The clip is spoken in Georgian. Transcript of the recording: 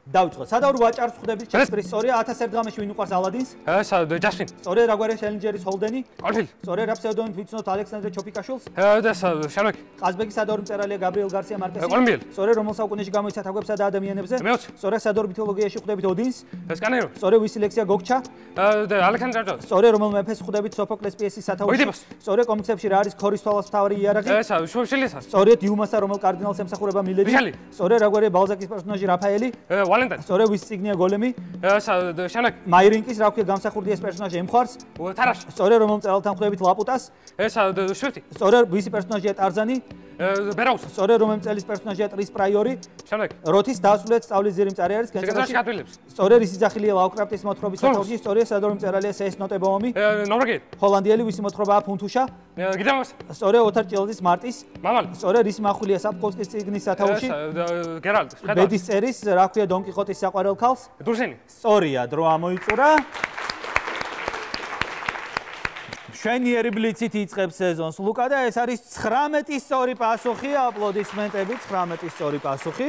დავიწყოთ. სადავრო ვაჭარს ხვდებით ჩასწრის სწორია 1001 დღამში ვინ უყარს ალადინს? ესა ჯასმინ. სწორია რა გვარია შელინჯერის ჰოლდენი? კორფილი. სწორია რა ფსევდონიმით ვიცნობთ ალექსანდრე ჩოფიკაშვილს? და შანაკი. ყაზბეგის სადავრო მწერალია გაბრიელ გარსია მარკესი? კოლუმბიელი. სწორია რომელ საუკუნეში გამოიცა თაგვებსა და ადამიანებზე? მეოცე. სწორია სადავრო მითოლოგიაში ხვდებით ოდინს? სკანერო. სწორია ვისი ლექსია გოგჩა? და ალექსანდრე ჯორჯ. სწორია რომელ მეფეს ხვდებით სოფოკლეს პიესის სათავეში? სწორია კომიქსებში რა არის ქორის თვალას მთავარი იარაღი? ესა შოშელიასა. სწორია დიუმასა რომელ კარდინალს ემსახურება მილედი? სწორია რა გვარია ბალზაკის პერსონაჟი რაფაელი? ვალენტაინი. სწორია ვის წიგნია გოლემი? ესა შანაკი. მაირინკის რა ქვია გამსახურდია ეს პერსონაჟი ემხარს? თარაში. სწორია რომელ მწერალთან ხვდებით ლაპუტას? ესა შვეთი. სწორია ვისი პერსონაჟია ტარზანი? ბერაუს. სწორია რომელ მწერლის პერსონაჟია ტრის პრაიორი? შანაკი. როთის დასრულეთ სწავლის ძირი მწარე არის კენჭელაში გატვილებს. სწორია რის იძახილია ლავკრაფტის მოთხრობის სათავეში? სწორია სადავრო მწერალია სეს ნოტებოომი? ნორვეგიელი. ჰოლანდიელი ვისი მოთხრობაა ფუნთუშა? გიდამას. სწორია ოთარ ჭილაძის მარტის? მამალი. სწორია რის מחულია საფკოვსკის წიგნის სათავეში? გერალდი. ბედის წერის რა ქვია დონ კიხოტის საყვარელ ქალს? დურსენი. სწორია, დრო ამოიწურა. შვენიერი ბლიცით იწყებს სეზონს ლუკა და ეს არის 19 სწორი პასუხი, აპლოდისმენტები, 19 სწორი პასუხი.